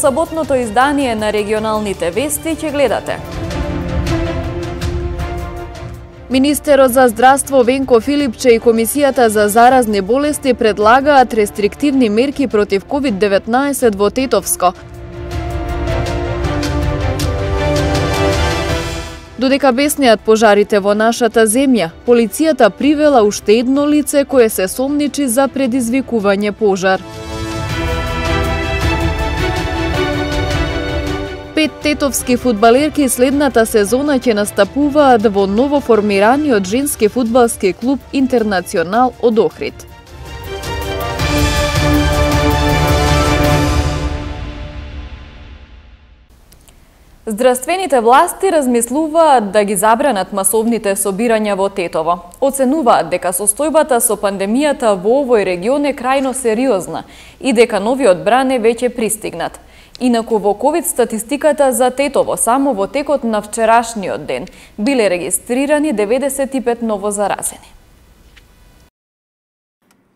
саботното издание на регионалните вести ќе гледате. Министерот за здравство Венко Филипче и Комисијата за заразни болести предлагаат рестриктивни мерки против COVID-19 во Тетовско. Додека беснеат пожарите во нашата земја, полицијата привела уште едно лице кое се сомничи за предизвикување пожар. 5 тетовски фудбалерки следната сезона ќе настапуваат во новоформираниот женски фудбалски клуб Интернационал од Охрид. Здравствените власти размислуваат да ги забранат масовните собирања во Тетово. Оценуваат дека состојбата со пандемијата во овој регион е крајно сериозна и дека новиот бран е веќе пристигнат. Инаку во ковид статистиката за Тетово само во текот на вчерашниот ден биле регистрирани 95 новозаразени.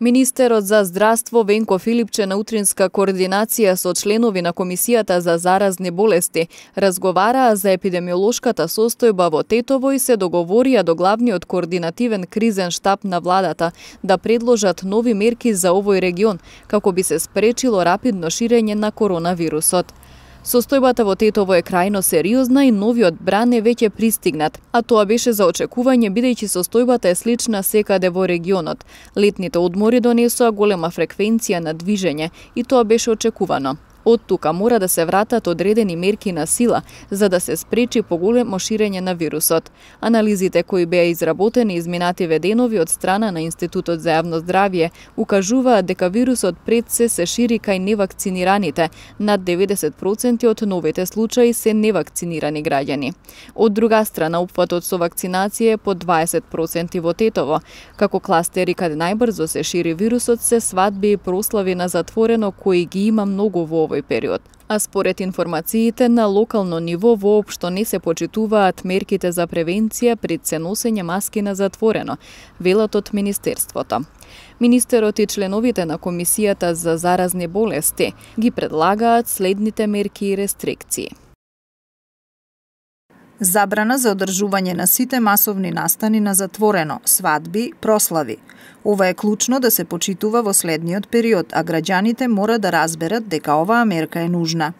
Министерот за здравство Венко Филипче на утринска координација со членови на Комисијата за заразни болести разговараа за епидемиолошката состојба во Тетово и се договорија до главниот координативен кризен штаб на владата да предложат нови мерки за овој регион, како би се спречило рапидно ширење на коронавирусот. Состојбата во Тетово е крајно сериозна и новиот бран е веќе пристигнат, а тоа беше за очекување бидејќи состојбата е слична секаде во регионот. Летните одмори донесоа голема фреквенција на движење и тоа беше очекувано. Од тука мора да се вратат одредени мерки на сила за да се спречи поголемо ширење на вирусот. Анализите кои беа изработени изминативе денови од страна на Институтот за јавно здравје укажуваат дека вирусот пред се шири кај невакцинираните. Над 90% од новите случаи се невакцинирани граѓани. Од друга страна, опфатот со вакцинација е по 20% во Тетово. Како кластери каде најбрзо се шири вирусот се свадби и прослави на затворено кои ги има многу во овој период. А според информациите на локално ниво воопшто не се почитуваат мерките за превенција пред се носење маски на затворено, велат од Министерството. Министерот и членовите на Комисијата за заразни болести ги предлагаат следните мерки и рестрикции. Забрана за одржување на сите масовни настани на затворено, свадби, прослави. Ова е клучно да се почитува во следниот период, а граѓаните мора да разберат дека оваа мерка е нужна.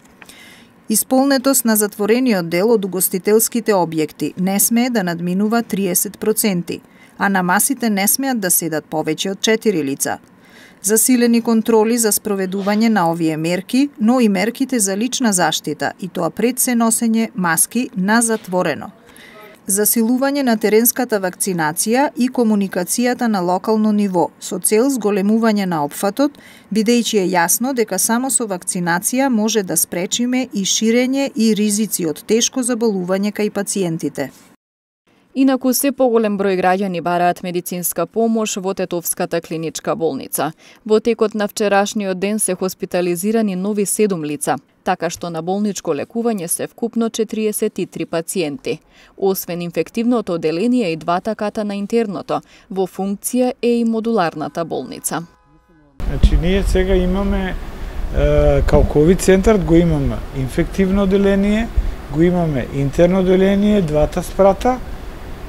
Исполнетост на затворениот дел од угостителските објекти не смее да надминува 30%, а на масите не смеат да седат повеќе од 4 лица. Засилени контроли за спроведување на овие мерки, но и мерките за лична заштита, и тоа пред се носење маски на затворено. Засилување на теренската вакцинација и комуникацијата на локално ниво, со цел зголемување на опфатот, бидејќи е јасно дека само со вакцинација може да спречиме и ширење и ризици од тешко заболување кај пациентите. Инаку се поголем број граѓани бараат медицинска помош во Тетовската клиничка болница. Во текот на вчерашниот ден се хоспитализирани нови 7 лица, така што на болничко лекување се вкупно 43 пациенти. Освен инфективното оделение и двата ката на интерното, во функција е и модуларната болница. Значи, ние сега имаме као ковид центар, го имаме инфективно оделение, го имаме интерно оделение, двата спрата,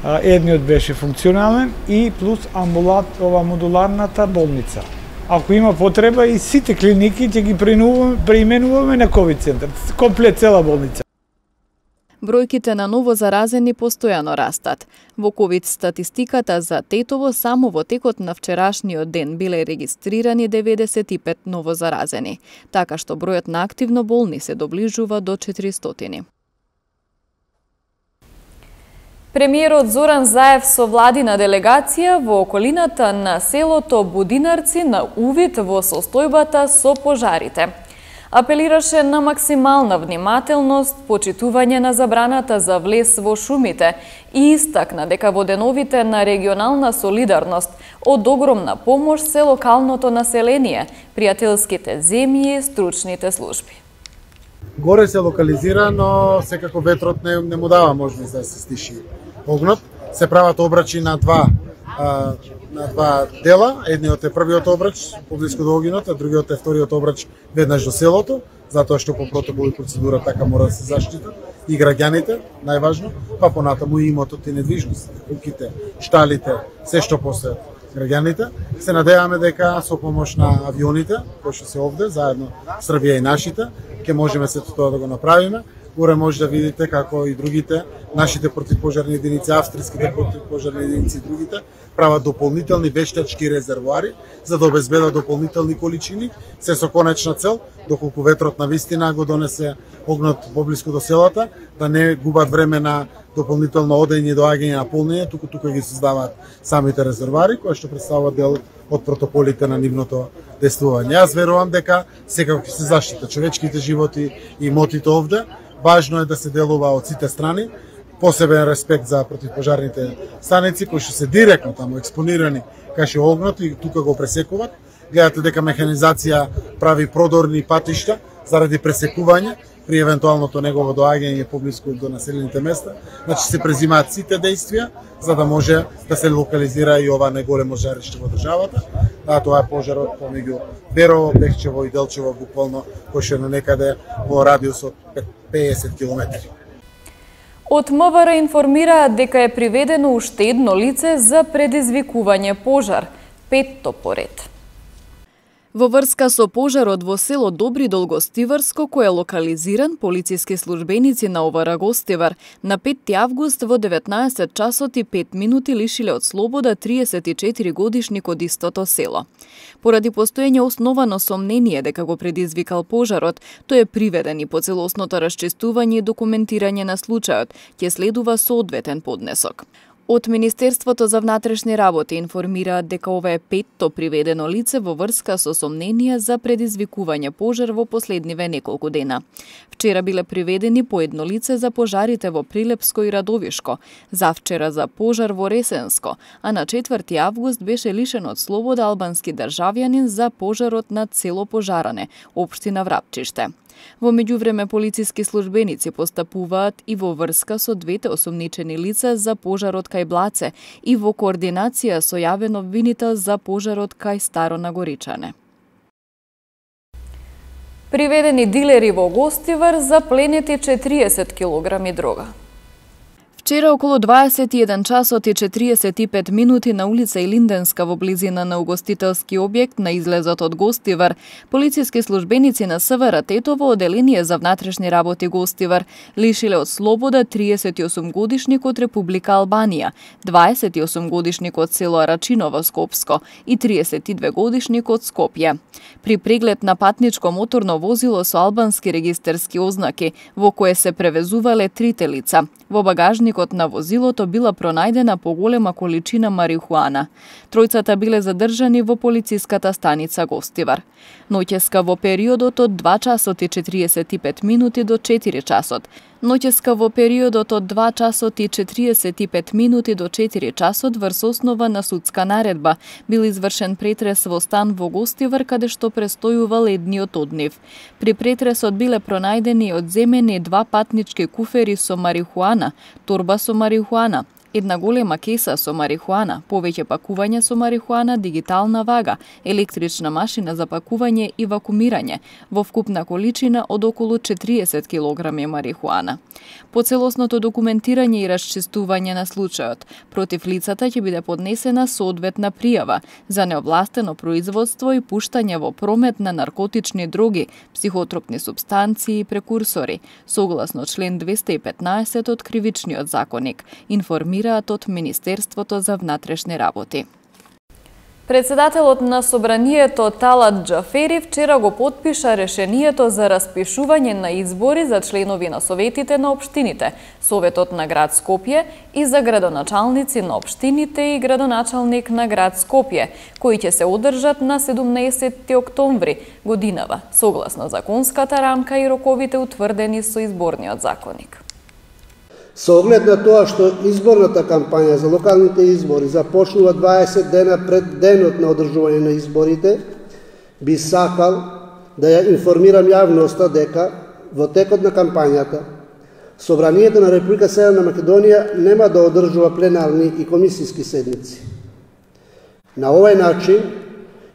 едниот беше функционален и плюс ова модуларната болница. Ако има потреба и сите клиники ќе ги преименуваме на ковид центар, комплет цела болница. Бројките на новозаразени постојано растат. Во ковид статистиката за Тетово само во текот на вчерашниот ден биле регистрирани 95 новозаразени, така што бројот на активно болни се доближува до 400. Премиерот Зоран Заев со владина делегација во околината на селото Будинарци на увид во состојбата со пожарите. Апелираше на максимална внимателност, почитување на забраната за влез во шумите и истакна дека во деновите на регионална солидарност од огромна помош се локалното население, пријателските земји и стручните служби. Горе се локализира, но секако ветрот не му дава можност да се стиши огнот. Се прават обрачи на два на два дела. Едниот е првиот обрач поблиску до огинот, а другиот е вториот обрач веднаш до селото, затоа што по протокол и процедура така мора да се заштитат и граѓаните, најважно, па понатаму и имотот и недвижностите, куќите, шталите, се што посеат граѓаните. Се надеваме дека со помош на авионите, кои што се овде, заедно Србија и нашите, ќе можеме сето тоа да го направиме. Горе може да видите како и другите, нашите противпожарни единици, австриските противпожарни единици и другите, прават дополнителни вештачки резервоари за да обезбедат дополнителни количини, се со конечна цел, доколку ветрот на вистина го донесе огнот поблиску до селата, да не губат време на дополнително одење и доаѓање на полнење, туку ги создаваат самите резервоари, кои што представуваат дел од протоколите на нивното действување. Јас верувам дека секако ќе се заштитат човечките животи и имотите овде. Важно е да се делува од сите страни, посебен респект за противпожарните станици кои што се директно таму експонирани кај огнот и тука го пресекуваат. Гледате дека механизација прави продорни патишта заради пресекување при евентуалното негово доаѓање поблиску до населените места. Значи се презимаат сите действија за да може да се локализира и ова неголемо жариште во државата. Тоа е пожарот помеѓу Берово, Бехчево и Делчево, буквално кој што е на некаде во радиус од 50 километри. Од МВР информираат дека е приведено уште едно лице за предизвикување пожар, 5-то поред. Во врска со пожарот во село Добри Дол Гостиварско, кој е локализиран, полициски службеници на ОВР Гостивар на 5 август во 19 часот и 5 минути лишиле од слобода 34 годишник од истото село. Поради постоење основано сомнение дека го предизвикал пожарот, тој е приведен и по целосното расчистување и документирање на случајот ќе следува соодветен поднесок. Од Министерството за внатрешни работи информираат дека ова е 5-то приведено лице во врска со сомненија за предизвикување пожар во последниве неколку дена. Вчера биле приведени по едно лице за пожарите во Прилепско и Радовишко, завчера за пожар во Ресенско, а на 4 август беше лишен од слобода албански државјанин за пожарот на село Пожаране, општина Врапчиште. Во меѓувреме полициски службеници постапуваат и во врска со двете осомничени лица за пожарот кај Блаце и во координација со јавен обвинител за пожарот кај Старо Нагоричане. Приведени дилери во Гостивар за пленети 40 килограми дрога. Вчера околу 21 часот и 45 минути на улица Илинденска во близина на угостителски објект на излезот од Гостивар, полициски службеници на СВР Тетово оделение за внатрешни работи Гостивар лишиле од слобода 38 годишник од Република Албанија, 28 годишник од село Арачиново Скопско и 32 годишник од Скопје. При преглед на патничко моторно возило со албански регистарски ознаки, во кое се превезувале трите лица, во багажникот на возилото била пронајдена поголема количина марихуана. Тројцата биле задржани во полициската станица Гостивар. Ноќеска во периодот од 2 часот и 45 минути до 4 часот. Ноќеска во периодот од 2 часот и 45 минути до 4 часот врз основа на судска наредба бил извршен претрес во стан во Гостивар каде што престојувал едниот од нив. При претресот биле пронајдени одземени 2 патнички куфери со марихуана, торба со марихуана, една голема кеса со марихуана, повеќе пакувања со марихуана, дигитална вага, електрична машина за пакување и вакуумирање, во вкупна количина од околу 40 килограми марихуана. По целосното документирање и расчистување на случајот, против лицата ќе биде поднесена соодветна пријава за неовластено производство и пуштање во промет на наркотични дроги, психотропни супстанции и прекурсори, согласно член 215 од Кривичниот законник, информираат од Министерството за внатрешни работи. Председателот на Собранието Талат Џафери вчера го потпиша решението за распишување на избори за членови на советите на општините, Советот на град Скопје и за градоначалници на општините и градоначалник на град Скопје, кои ќе се одржат на 17 октомври годинава, согласно законската рамка и роковите утврдени со изборниот законник. Со оглед на тоа што изборната кампања за локалните избори започнува 20 дена пред денот на одржување на изборите, би сакал да ја информирам јавноста дека во текот на кампањата Собранието на Република Северна Македонија нема да одржува пленарни и комисиски седници. На овој начин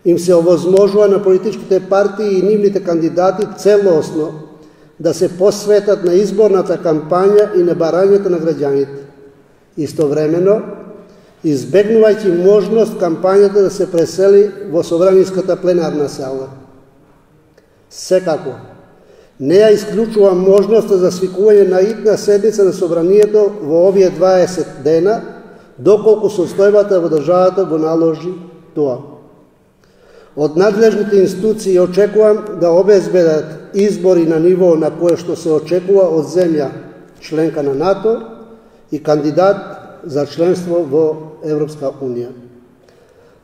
им се овозможува на политичките партии и нивните кандидати целосно да се посветат на изборната кампања и на барањето на граѓаните. Истовремено, избегнувајќи можност кампањата да се пресели во собраниската пленарна сала. Секако, не ја исклучувам можноста за свикување на итна седница на собранието во овие 20 дена, доколку состојбата во државата го наложи тоа. Од надлежните институции очекувам да обезбедат избори на ниво на кое што се очекува од земја членка на НАТО и кандидат за членство во Европска Унија.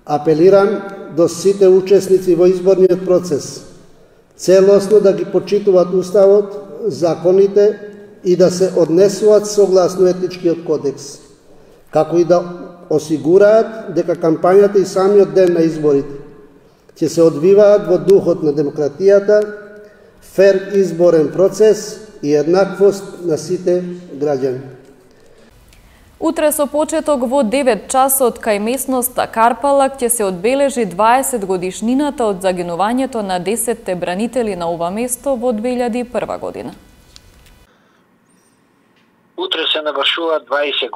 Апелирам до сите учесници во изборниот процес целосно да ги почитуваат Уставот, законите и да се однесуваат согласно етичкиот кодекс, како и да осигураат дека кампањата и самиот ден на изборите ќе се одвиваат во духот на демократијата, фер изборен процес и еднаквост на сите граѓани. Утре со почеток во 9 часот кај местноста Карпалак ќе се одбележи 20 годишнината од загинувањето на 10 бранители на ова место во 2001 година. Утре се навршуваат 20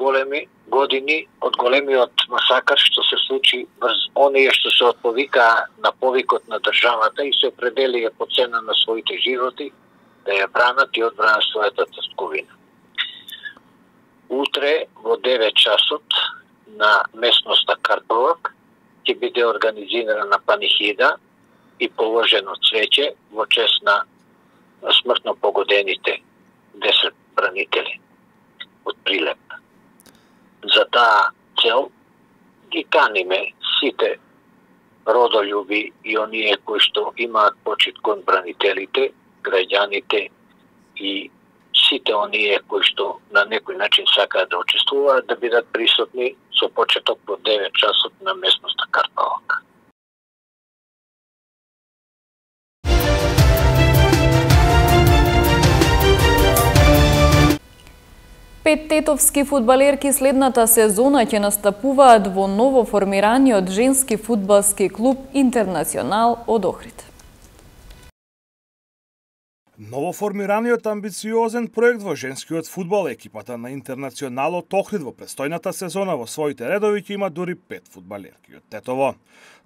години од големиот масакар што се случи врз оние што се отповикаа на повикот на државата и се определија по цена на своите животи да ја бранат и одбранат својата татковина. Утре во 9 часот на местноста Карпалак ќе биде организирана панихида и положено цвеќе во чест на смртно погодените 10 бранители од Прилеп. За таа цел ги каниме сите родолюби и оние кои што имаат почит кон бранителите, граѓаните и сите оние кои што на некој начин сакаат да учествуваат да бидат присутни со почеток во 9 часот на местноста Карпалак. Пет тетовски фудбалерки следната сезона ќе настапуваат во ново формираниот женски фудбалски клуб Интернационал од Охрид. Новоформираниот амбициозен проект во женскиот фудбал, екипата на Интернационал од Охрид во престојната сезона во своите редови ќе има дури 5 фудбалерки од Тетово.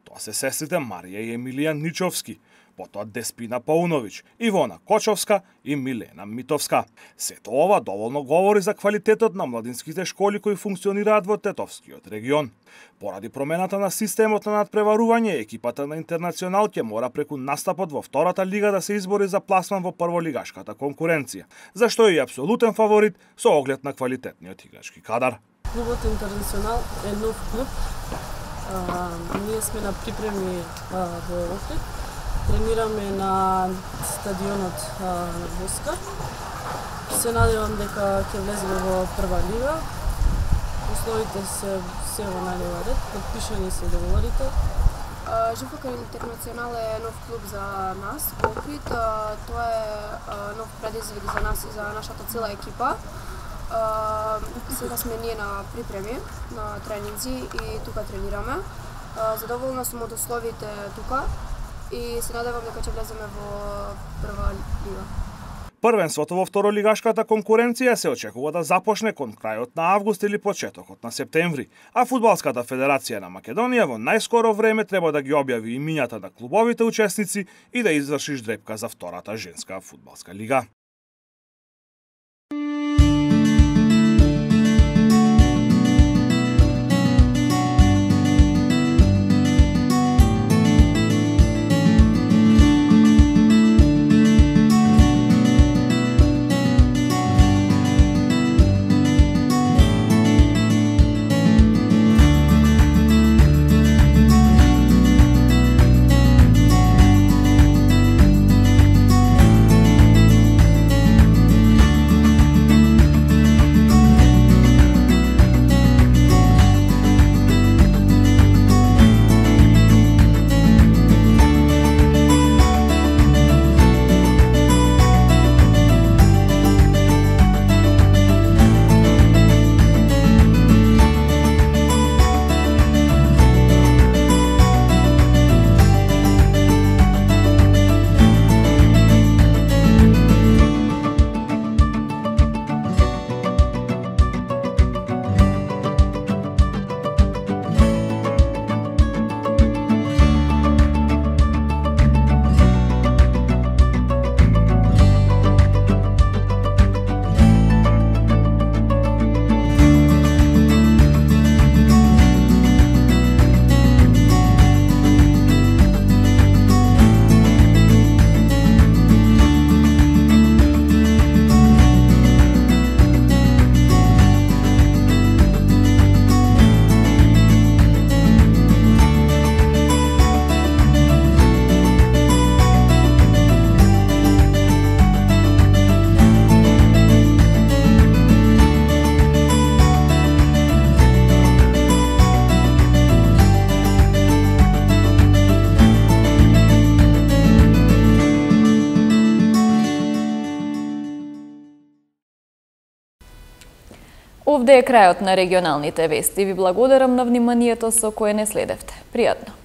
Тоа се сестрите Марија и Емилија Ничовски, потоа Деспина Пауновиќ, Ивона Кочовска и Милена Митовска. Сето ова доволно говори за квалитетот на младинските школи кои функционираат во Тетовскиот регион. Поради промената на системот на надпреварување, екипата на Интернационал ќе мора преку настапот во втората лига да се избори за пласман во прволигашката конкуренција, зашто е и апсолутен фаворит со оглед на квалитетниот играчки кадар. Клубот Интернационал е нов клуб. Ние сме на припреми во Охрид. Тренираме на стадионот на Воска. Се надевам дека ќе влеземе во прва лига. Условите се во најдобар ред, подпишани се договорите. ЖФК Интернационал е нов клуб за нас во Охрид. Тоа е нов предизвик за нас и за нашата цела екипа. Сега сме ние на припреми, на тренинзи и тука тренираме. Задоволна сум од условите тука и се надевам дека ќе влеземе во прва лига. Првенството во второлигашката конкуренција се очекува да започне кон крајот на август или почетокот на септември, а Фудбалската федерација на Македонија во најскоро време треба да ги објави имињата на клубовите учесници и да изврши ждрепка за втората женска фудбалска лига. Овде е крајот на регионалните вести. Ви благодарам на вниманието со кое не следевте. Пријатно!